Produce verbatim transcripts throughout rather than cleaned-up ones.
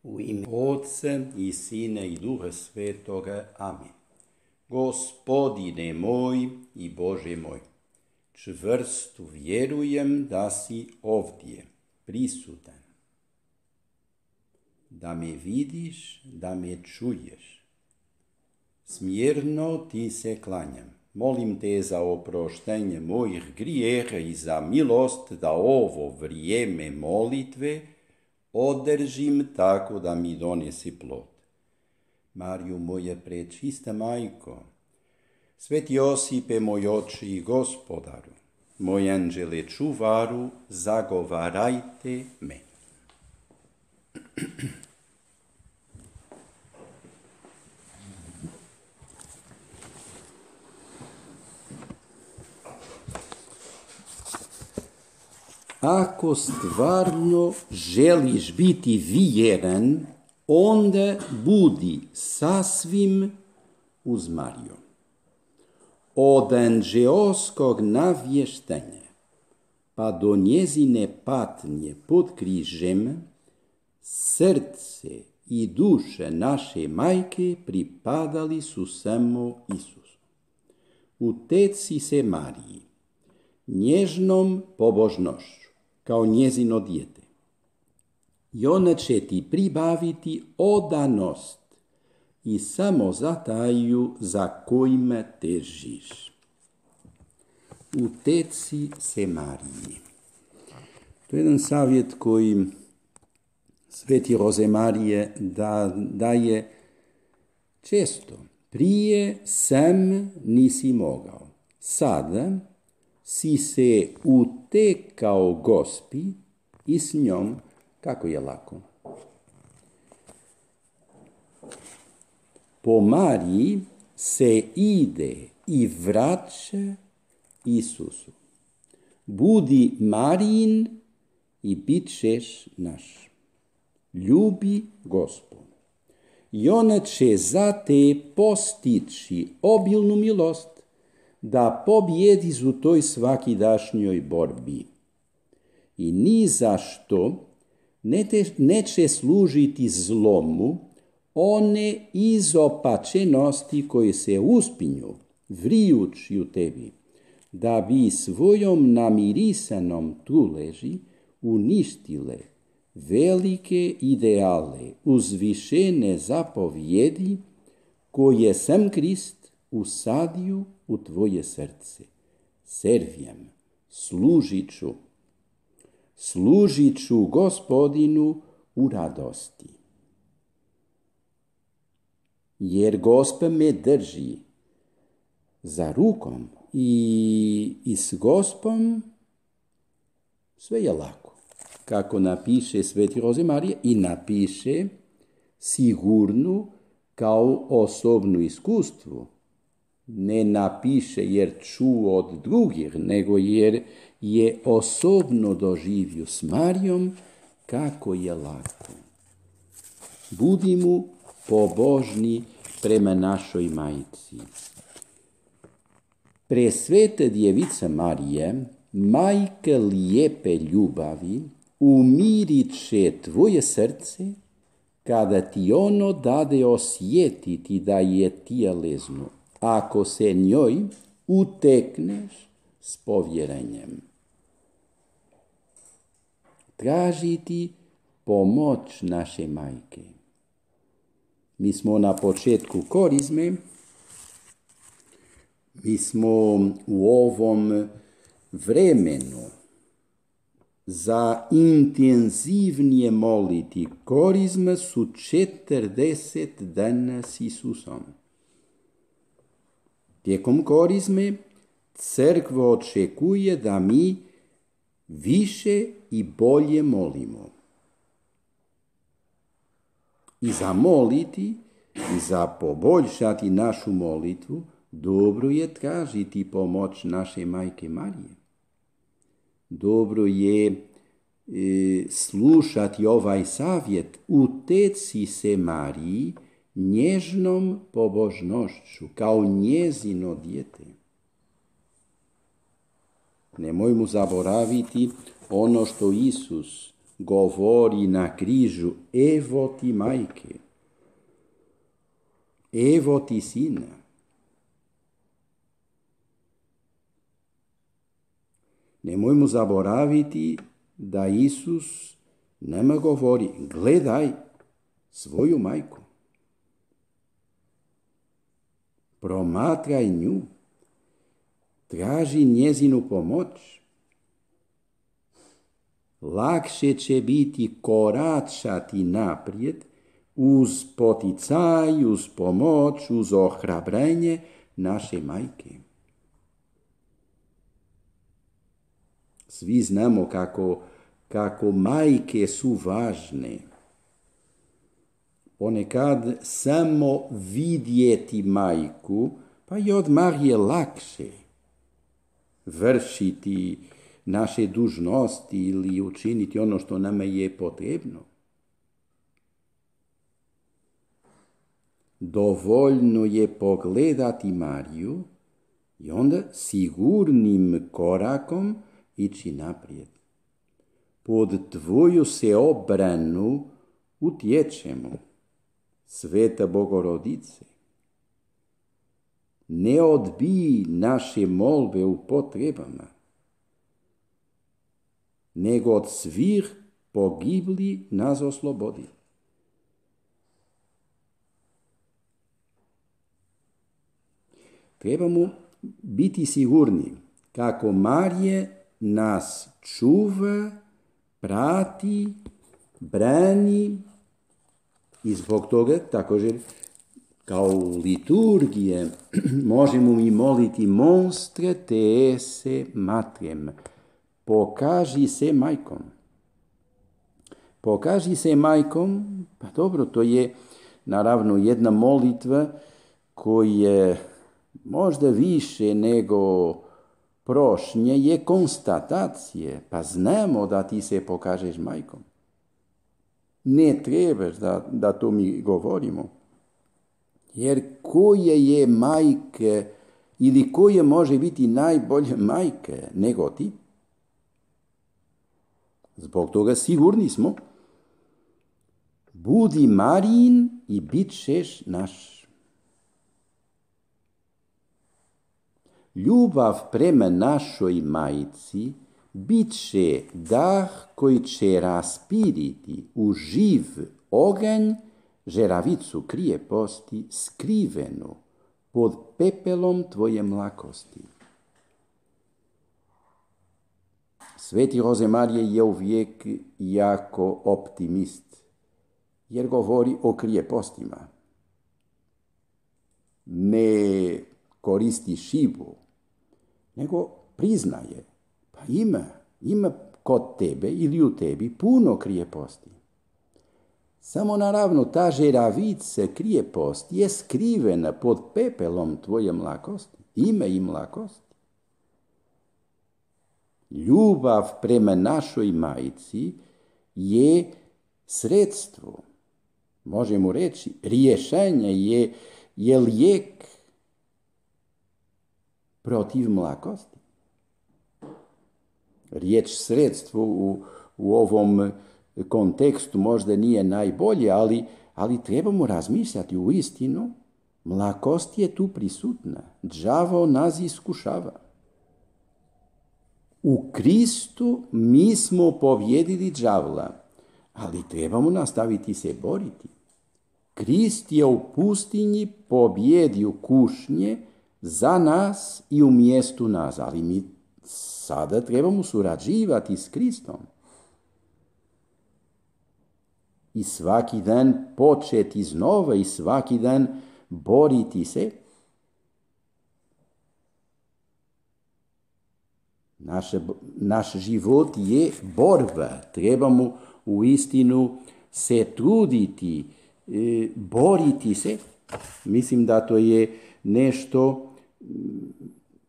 U ime Otca i Sina i Duha Svetoga. Amin. Gospodine moj i Bože moj, čvrsto vjerujem da si ovdje prisutan, da me vidiš, da me čuješ. Smjerno ti se klanjam. Molim te za oproštenje mojih grijeha i za milost da ovo vrijeme molitve održim tako da mi donesi plod. Mariju moja prečista majko, Sveti Josipe moj oče i gospodaru, moj anđele čuvaru, zagovarajte me. Ako stvarno želiš biti vjeran, onda budi sasvim uz Mariju. Od anđeoskog navještenja pa do njezine patnje pod križem, srce i duše naše majke pripadali su samo Isusu. Uteci se Mariji, nježnom pobožnošću, kao njezino dijete. I ona će ti pribaviti odanost i samozataju za kojima težiš. Uteci se Mariji. To je jedan savjet koji Sveti Rozemarije da, daje često. Prije sam nisi mogao, sada si se utekao Gospi i s njom kako je lako. Po Mariji se ide i vraća Isusu. Budi Marijin i bit ćeš naš. Ljubi Gospu. I ona će za te postići obilnu milost da pobjediš u toj svakidašnjoj borbi. I ni zašto neće služiti zlomu one izopačenosti koje se uspinju, vrijući u tebi, da bi svojom namirisanom tuleži uništile velike ideale, uzvišene zapovjedi koje sam Krist usadio u tvoje srce. Servijem, služit ću, služit ću Gospodinu u radosti. Jer Gospa me drži za rukom i, i s Gospom sve je lako. Kako napiše Sveti Rozemarije i napiše sigurnu kao osobnu iskustvu. Ne napiše jer čuo od drugih, nego jer je osobno doživio s Marijom kako je lako. Budimo pobožni prema našoj majci. Presveta djevica Marije, majka lijepe ljubavi, umirit će tvoje srce kada ti ono dade osjetiti da je tijelesno, ako se njoj utekneš s povjerenjem. Tražiti pomoć naše majke. Mi smo na početku korizme, mi smo u ovom vremenu za intenzivnije moliti. Korizma su četrdeset dana s Isusom. Tijekom korizme crkva očekuje da mi više i bolje molimo. I za moliti i za poboljšati našu molitvu dobro je tražiti pomoć naše majke Marije. Dobro je e, slušati ovaj savjet. Uteci se Mariji nježnom pobožnošću kao njezino dijete. Nemojmo zaboraviti ono što Isus govori na križu, evo ti majke, evo ti sina. Nemojmo zaboraviti da Isus nama govori, gledaj svoju majku, promatraj nju, traži njezinu pomoć. Lakše će biti koračati naprijed uz poticaj, uz pomoć, uz ohrabrenje naše majke. Svi znamo kako, kako majke su važne. Ponekad samo vidjeti majku, pa i odmah je lakše vršiti naše dužnosti ili učiniti ono što nama je potrebno. Dovoljno je pogledati Mariju i onda sigurnim korakom ići naprijed. Pod tvoju se obranu utječemo, Sveta Bogorodice. Ne odbij naše molbe u potrebama, nego od svih pogibli nas oslobodi. Trebamo biti sigurni kako Marije nas čuva, prati, brani i zbog toga također kao u liturgije možemo mi moliti monstre te esse matrem. Pokaži se majkom. Pokaži se majkom, pa dobro, to je naravno jedna molitva koja je možda više nego prošnje, je konstatacije, pa znamo da ti se pokažeš majkom. Ne trebaš da, da to mi govorimo. Jer koje je majke ili koje može biti najbolje majke nego ti? Zbog toga sigurni smo, budi Marijin i bit ćeš naš. Ljubav prema našoj majci bit će dah koji će raspiriti u živ oganj žeravicu krijeposti skrivenu pod pepelom tvoje mlakosti. Sveti Rozemarije je uvijek jako optimist, jer govori o krijepostima. Ne koristi šibu, nego priznaje, pa ima, ima kod tebe ili u tebi puno krijeposti. Samo naravno ta žeravica krijeposti je skrivena pod pepelom tvoje mlakosti. Ima i mlakosti. Ljubav prema našoj majci je sredstvo, možemo reći, rješenje je, je lijek protiv mlakosti. Riječ sredstvo u, u ovom kontekstu možda nije najbolje, ali, ali trebamo razmišljati u istinu. Mlakost je tu prisutna. Đavo nas iskušava. U Kristu mi smo pobjedili đavla, ali trebamo nastaviti se boriti. Krist je u pustinji pobjedio kušnje za nas i u mjestu nas, ali mi sada trebamo surađivati s Kristom. I svaki dan početi iznova i svaki dan boriti se. Naš, naš život je borba. Trebamo u istinu se truditi, e, boriti se. Mislim da to je nešto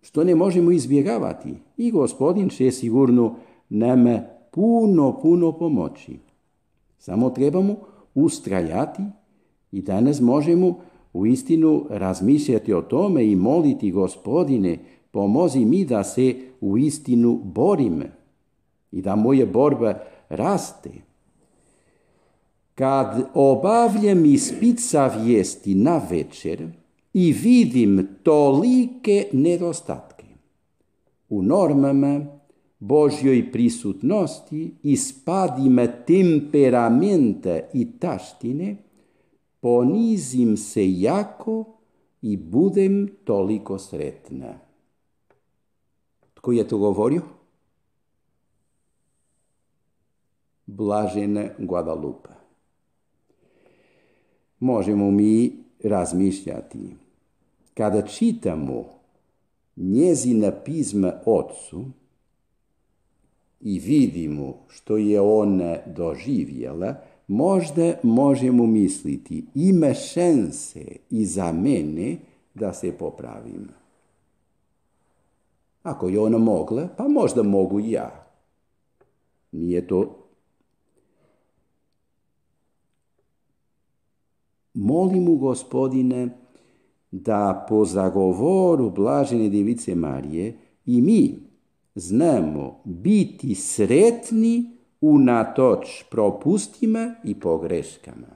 što ne možemo izbjegavati. I Gospodin će sigurno nam puno, puno pomoći. Samo trebamo ustrajati i danas možemo u istinu razmišljati o tome i moliti Gospodine, pomozi mi da se u istinu borim i da moja borba raste. Kad obavljam ispit savjesti na večer i vidim tolike nedostatke u normama Božjoj prisutnosti i spadima temperamenta i taštine, ponizim se jako i budem toliko sretna. Tko je to govorio? Blažena Guadalupe. Možemo mi razmišljati. Kada čitamo njezina pisma Otcu i vidimo što je ona doživjela, možda možemo misliti, ima šanse i za mene da se popravim. Ako je ona mogla, pa možda mogu i ja. Nije to. Molim u Gospodine da po zagovoru Blažene Device Marije i mi znamo biti sretni unatoč propustima i pogreškama.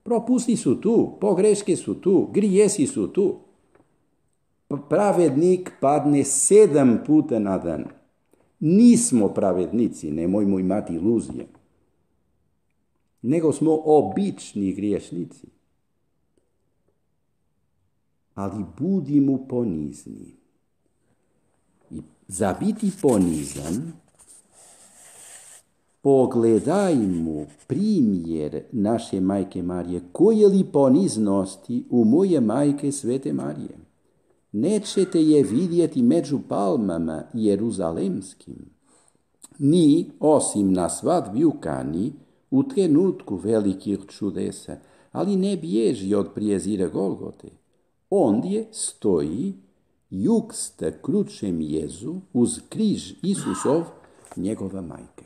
Propusti su tu, pogreške su tu, grijesi su tu. Pravednik padne sedam puta na dan. Nismo pravednici, nemojmo imati iluzije. Nego smo obični griješnici. Ali budimo ponizni. I za biti ponizan, pogledajmo primjer naše majke Marije. Koje li poniznosti u moje majke Svete Marije? Nećete je vidjeti među palmama jeruzalemskim. Ni, osim na svadbi u Kani, u trenutku velikih čudesa, ali ne bježi od prijezira Golgote. Ondje stoji juksta kručem Jezu uz križ Isusov, njegova majka.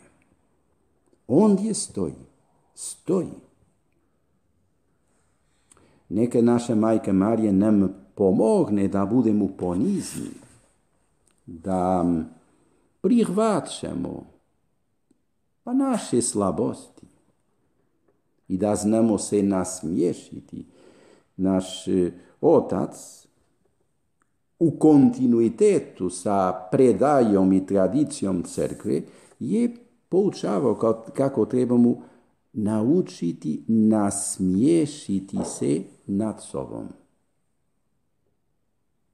Ondje stoji, stoji. Neka naša majka Marija nam pomogne da budemo ponizni, da prihvaćamo pa naše slabosti i da znamo se nasmiješiti. Naš otac u kontinuitetu sa predajom i tradicijom crkve je poučavao kako trebamo naučiti nasmiješiti se nad sobom.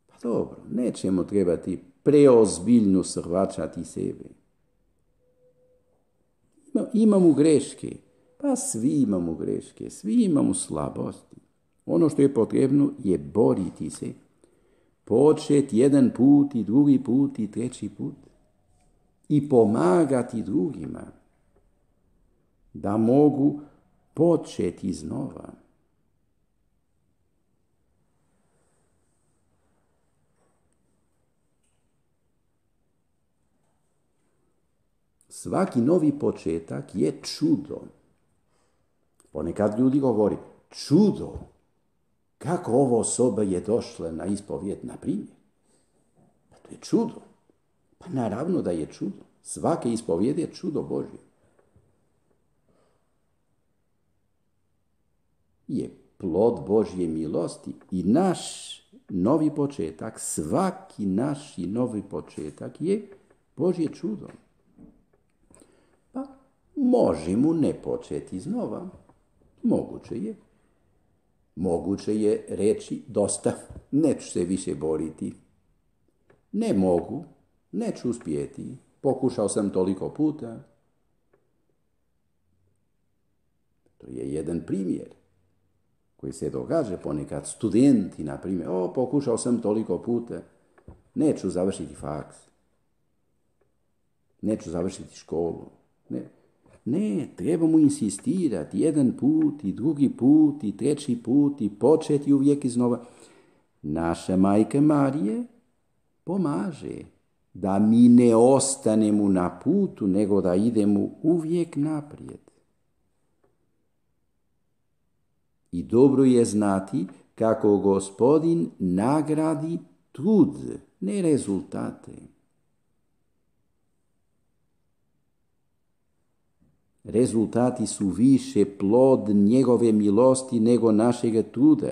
Pa dobro, nećemo trebati preozbiljno srvačati sebe. Imamo greške, pa svi imamo greške, svi imamo slabosti. Ono što je potrebno je boriti se, početi jedan put i drugi put i treći put i pomagati drugima da mogu početi iznova. Svaki novi početak je čudo. Ponekad ljudi govori, čudo, kako ova osoba je došla na ispovijed, na primjer. Pa to je čudo. Pa naravno da je čudo. Svaka ispovijed je čudo Božje. Je plod Božje milosti i naš novi početak, svaki naš novi početak je Božje čudo. Pa možemo ne početi iznova. Moguće je. Moguće je reći dosta, neću se više boriti. Ne mogu, neću uspjeti. Pokušao sam toliko puta. To je jedan primjer koji se događa ponekad. Studenti, na primjer, o, pokušao sam toliko puta, neću završiti faks. Neću završiti školu. Ne. Ne, trebamo insistirati jedan put i drugi put i treći put i početi uvijek iznova. Naša majka Marije pomaže da mi ne ostanemo na putu, nego da idemo uvijek naprijed. I dobro je znati kako Gospodin nagradi trud, ne rezultate. Rezultati su više plod njegove milosti nego našega truda.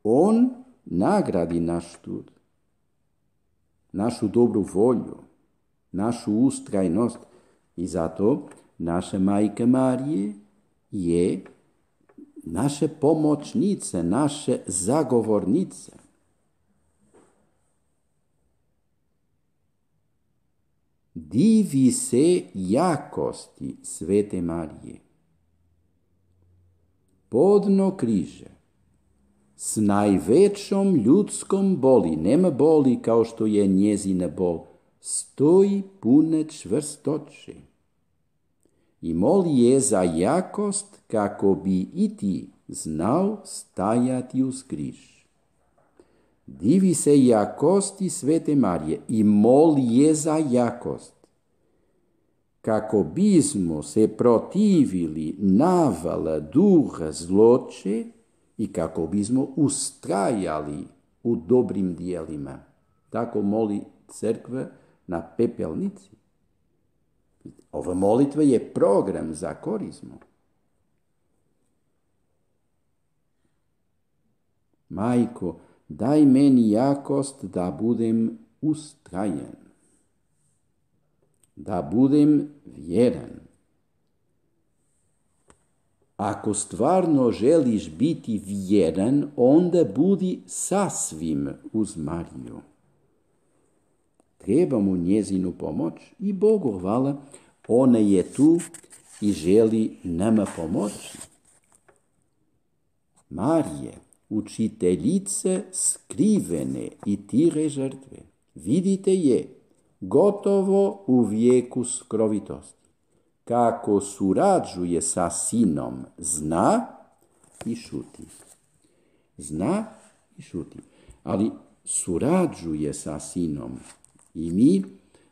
On nagradi naš trud, našu dobru volju, našu ustrajnost i zato naša Majka Marije je naša pomoćnica, naša zagovornica. Divi se jakosti Svete Marije. Podno križe, s najvećom ljudskom boli, nema boli kao što je njezina bol, stoji puna čvrstoće i moli je za jakost kako bi i ti znao stajati uz križ. Divi se jakosti Svete Marije i moli je za jakost, kako bismo se protivili navala duha zloće i kako bismo ustrajali u dobrim dijelima. Tako moli crkva na pepelnici. Ova molitva je program za korizmu. Majko, daj meni jakost da budem ustrajan, da budem vjeran. Ako stvarno želiš biti vjeran, onda budi sasvim uz Mariju. Treba mu njezinu pomoć i Bogu hvala, ona je tu i želi nama pomoći. Marije, učiteljice skrivene i tire žrtve, vidite je gotovo u vijeku skrovitosti. Kako surađuje sa sinom, zna i šuti. Zna i šuti. Ali surađuje sa sinom i mi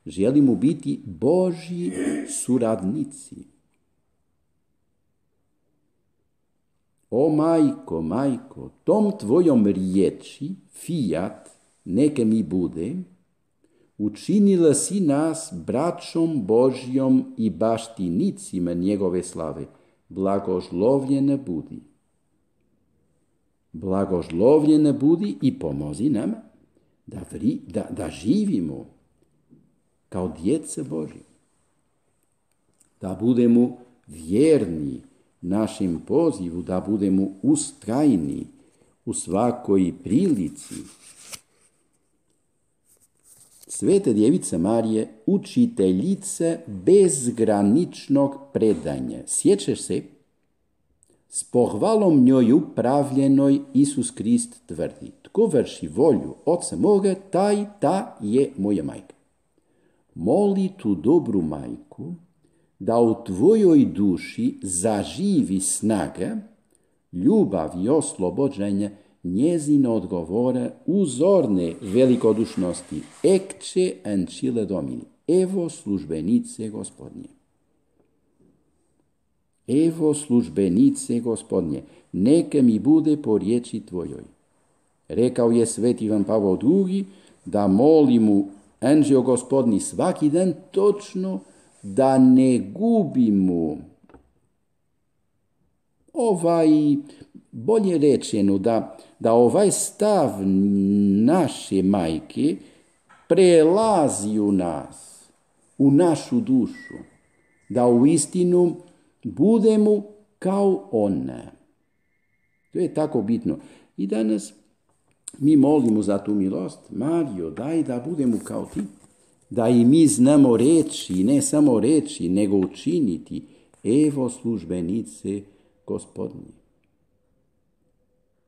želimo biti Božji suradnici. O majko, majko, tom tvojom riječi, fiat, neka mi bude, učinila si nas braćom Božjom i baštinicima njegove slave. Blagožlovljena budi. Blagožlovljena budi i pomozi nama da, vri, da, da živimo kao djeca Božje. Da budemo vjerni našem pozivu, da budemo ustrajni u svakoj prilici. Sveta Djevica Marije, učiteljica bezgraničnog predanja. Sjećaš se? S pohvalom njoj upravljenoj Isus Krist tvrdi: tko vrši volju Oca moga, taj, ta je moja majka. Moli tu dobru majku da u tvojoj duši zaživi snaga, ljubav i oslobođenje njezina odgovora uzorne velikodušnosti. Ecce ancilla Domini. Evo službenice Gospodnje. Evo službenice Gospodnje, neka mi bude po riječi tvojoj. Rekao je sveti Ivan Pavao drugi da moli mu anđeo Gospodni svaki dan točno da ne gubimo ovaj, bolje rečeno, da, da ovaj stav naše majke prelazi u nas, u našu dušu, da u istinu budemo kao ona. To je tako bitno. I danas mi molimo za tu milost. Marijo, daj da budemo kao ti. Da i mi znamo reći, ne samo reći, nego učiniti. Evo službenice Gospodnje.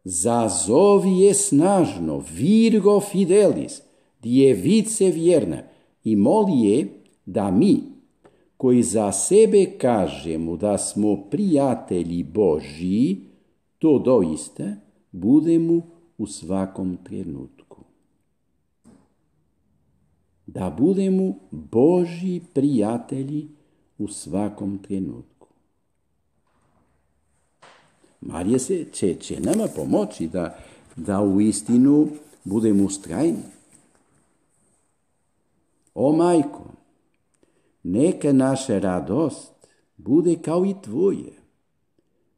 Zazovi je snažno, Virgo Fidelis, djevice vjerna, i moli je da mi, koji za sebe kažemo da smo prijatelji Božji, to doista budemo u svakom trenutku. Da budemo Božji prijatelji u svakom trenutku. Marija se će, će nama pomoći da, da u istinu budemo ustrajni. O majko, neka naša radost bude kao i tvoje.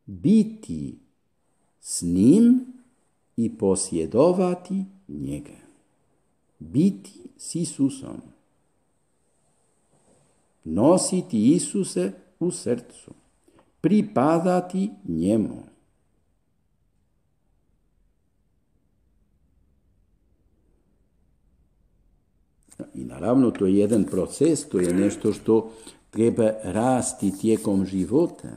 Biti s njim i posjedovati njega. Biti s Isusom. Nositi Isuse u srcu. Pripadati njemu. I naravno to je jedan proces, to je nešto što treba rasti tijekom života.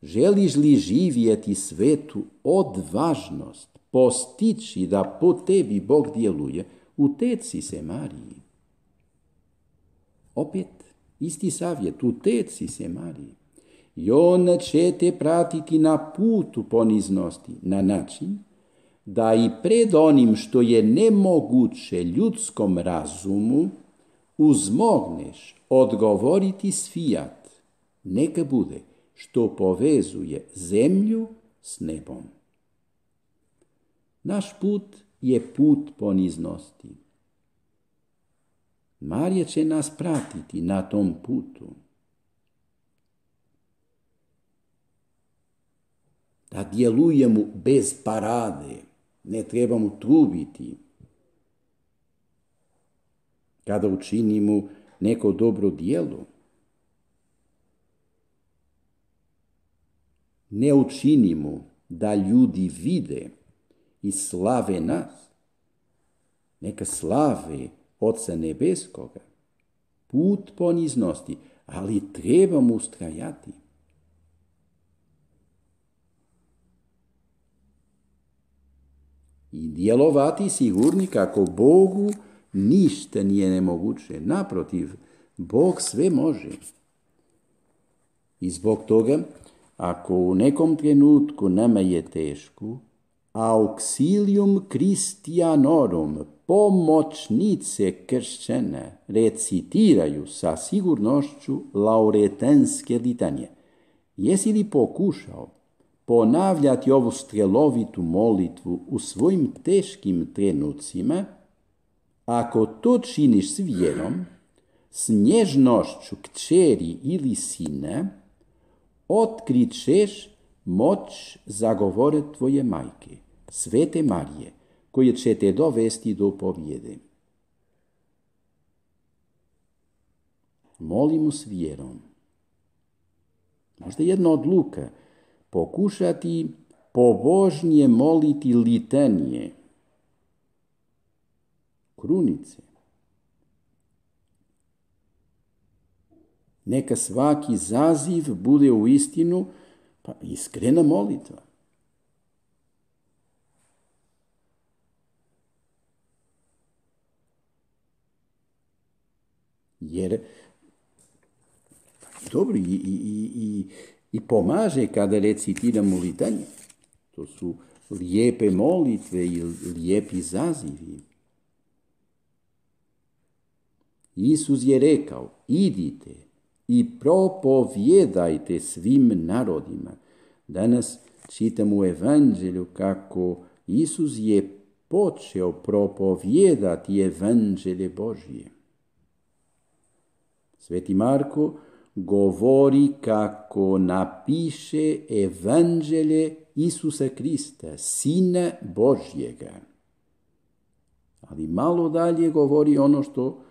Želiš li živjeti svetu odvažnost, postići da po tebi Bog djeluje, uteci se Mariji. Opet, isti savjet, uteci se Mariji. I ona će te pratiti na putu poniznosti, na način da i pred onim što je nemoguće ljudskom razumu uzmogneš odgovoriti s fiat. Neka bude što povezuje zemlju s nebom. Naš put je put poniznosti. Marija će nas pratiti na tom putu. Da djelujemo bez parade, ne trebamo trubiti. Kada učinimo neko dobro djelo, ne učinimo da ljudi vide i slave nas. Neka slave Oca Nebeskoga. Put poniznosti, ali trebamo ustrajati. I djelovati sigurni kako Bogu ništa nije nemoguće. Naprotiv, Bog sve može. I zbog toga, ako u nekom trenutku nama je teško, auxilium Christianorum, pomoćnice kršćane, recitiraju sa sigurnošću lauretenske litanije. Jesi li pokušao ponavljati ovu strelovitu molitvu u svojim teškim trenucima? Ako to činiš s vjerom, s nježnošću kćeri ili sina, otkrićeš moć zagovore tvoje majke, Svete Marije, koje će te dovesti do pobjede. Molimo s vjerom. Možda jedna odluka, pokušati pobožnije moliti litanije, krunice. Neka svaki zaziv bude u istinu pa iskrena molitva. Jer dobro i, i, i, i pomaže kada recitiramo litanje. To su lijepe molitve i lijepi zazivi. Isus je rekao, idite i propovjedajte svim narodima. Danas čitamo u Evanđelju kako Isus je počeo propovijedati Evanđelje Božje. Sveti Marko govori kako napiše Evanđelje Isusa Krista, Sina Božjega. Ali malo dalje govori ono što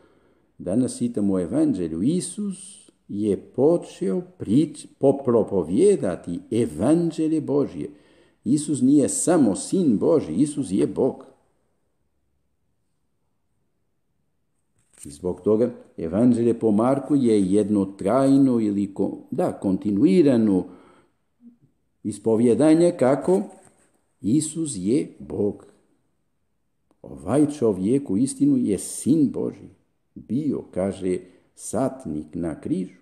danas čitamo u Evanđelju. Isus je počeo prič, popropovjedati Evanđelje Božje. Isus nije samo Sin Božji, Isus je Bog. I zbog toga Evanđelje po Marku je jedno trajno ili da, kontinuirano ispovjedanje kako Isus je Bog. Ovaj čovjek u istinu je Sin Božji. Bio, kaže satnik na križu.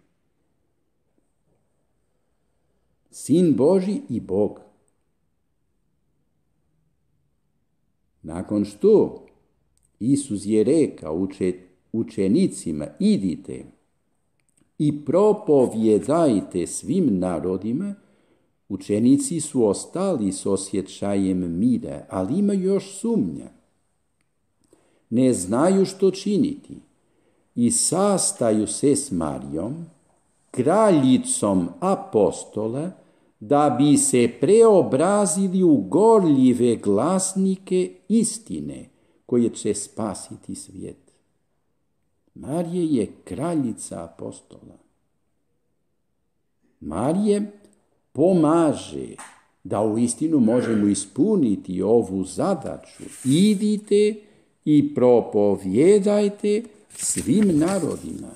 Sin Božji i Bog. Nakon što Isus je rekao uče, učenicima, idite i propovjedajte svim narodima, učenici su ostali s osjećajem mira, ali imaju još sumnja. Ne znaju što činiti i sastaju se s Marijom kraljicom apostola, da bi se preobrazili u gorljive glasnike istine, koje će spasiti svijet. Marija je kraljica apostola. Marija pomaže da uistinu možemo ispuniti ovu zadaću. Idite i propovjedajte svim narodima.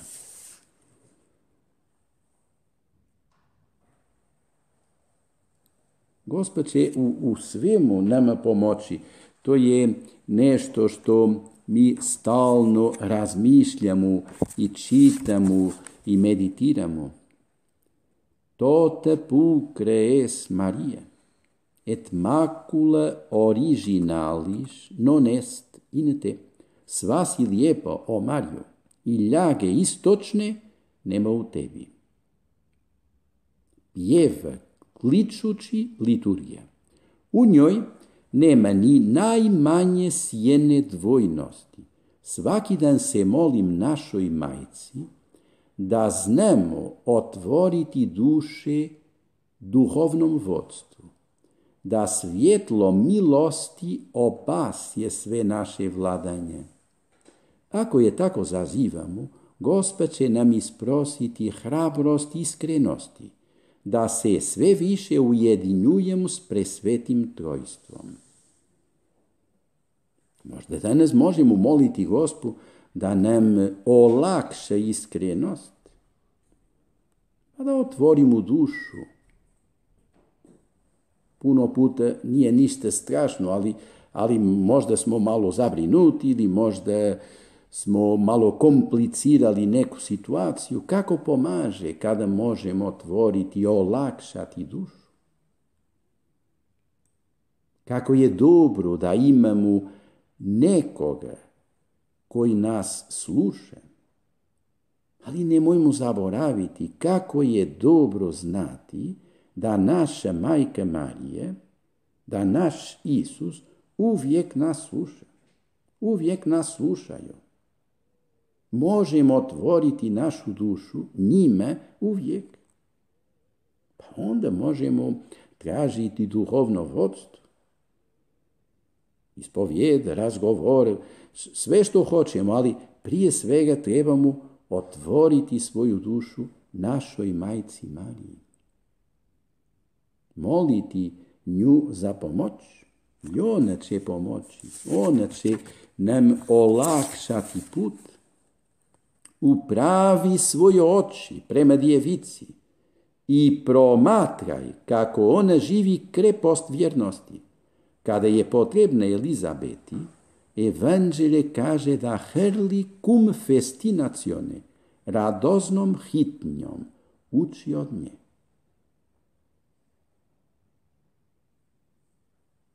Gospod će u, u svemu nama pomoći. To je nešto što mi stalno razmišljamo i čitamo i meditiramo. Tote pulcre es Maria, et macula originalis non est in te. Sva si lijepa, o Mario, i ljage istočne nema u tebi. Pjeva kličući liturgija. U njoj nema ni najmanje sjene dvojnosti. Svaki dan se molim našoj majci da znamo otvoriti duše duhovnom vodstvu, da svjetlo milosti opasje sve naše vladanje. Ako je tako zazivamo, Gospod će nam isprositi hrabrost i iskrenosti, da se sve više ujedinjujemo s presvetim trojstvom. Možda danas možemo moliti Gospu da nam olakša iskrenost, a da otvorimo dušu. Puno puta nije ništa strašno, ali, ali možda smo malo zabrinuti ili možda smo malo komplicirali neku situaciju. Kako pomaže kada možemo otvoriti i olakšati dušu? Kako je dobro da imamo nekoga koji nas sluša. Ali nemojmo zaboraviti kako je dobro znati da naša majka Marija, da naš Isus uvijek nas sluša. Uvijek nas slušaju. Možemo otvoriti našu dušu njima uvijek. Pa onda možemo tražiti duhovno vodstvo. Ispovijed, razgovor, sve što hoćemo, ali prije svega trebamo otvoriti svoju dušu našoj majci Mariji. Moliti nju za pomoć. I ona će pomoći. Ona će nam olakšati put. Upravi svoje oči prema djevici i promatraj kako ona živi krepost vjernosti. Kada je potrebna Elizabeti, Evanđelje kaže da hrli cum festinacione, radoznom hitnjom, uči od nje.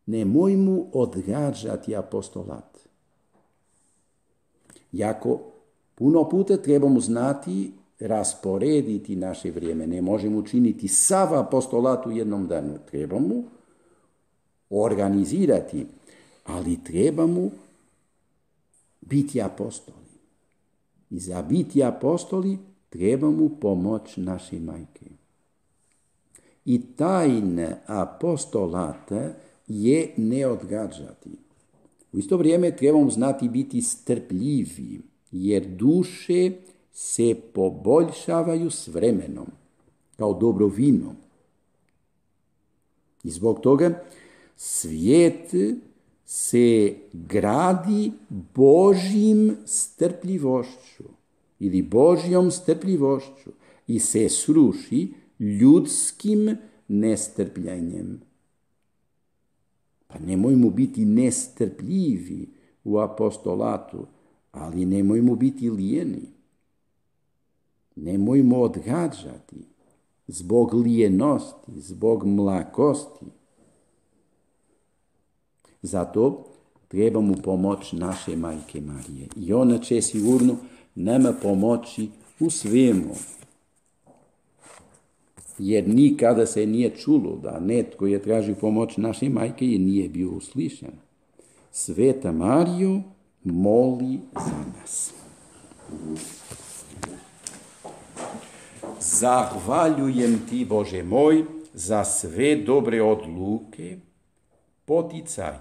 Nemojmo odgađati apostolat. Jako puno puta trebamo znati rasporediti naše vrijeme. Ne možemo učiniti sav apostolat u jednom danu. Trebamo organizirati, ali trebamo biti apostoli. I za biti apostoli trebamo pomoć naše majke. I tajna apostolata je ne odgađati. U isto vrijeme trebamo znati biti strpljivi, jer duše se poboljšavaju s vremenom, kao dobro vino. I zbog toga svijet se gradi Božjim strpljivošću ili Božjom strpljivošću i se sruši ljudskim nestrpljenjem. Pa nemojmo biti nestrpljivi u apostolatu, ali nemojmo biti lijeni. Nemojmo odgađati zbog lijenosti, zbog mlakosti. Zato trebamo pomoć naše majke Marije. I ona će sigurno nama pomoći u svemu. Jer nikada se nije čulo da netko je tražio pomoć naše majke i nije bio uslišen. Sveta Marijo, moli za nas. Zahvaljujem ti, Bože moj, za sve dobre odluke, poticaje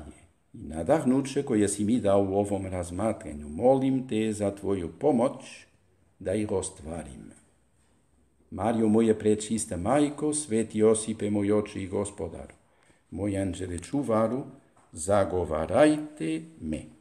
i nadahnuće koje si mi dao u ovom razmatranju. Molim te za tvoju pomoć da ih ostvarim. Mario, moje prečista majko, sveti Josipe, moj oče i gospodaru, moj anđele čuvaru, zagovarajte me.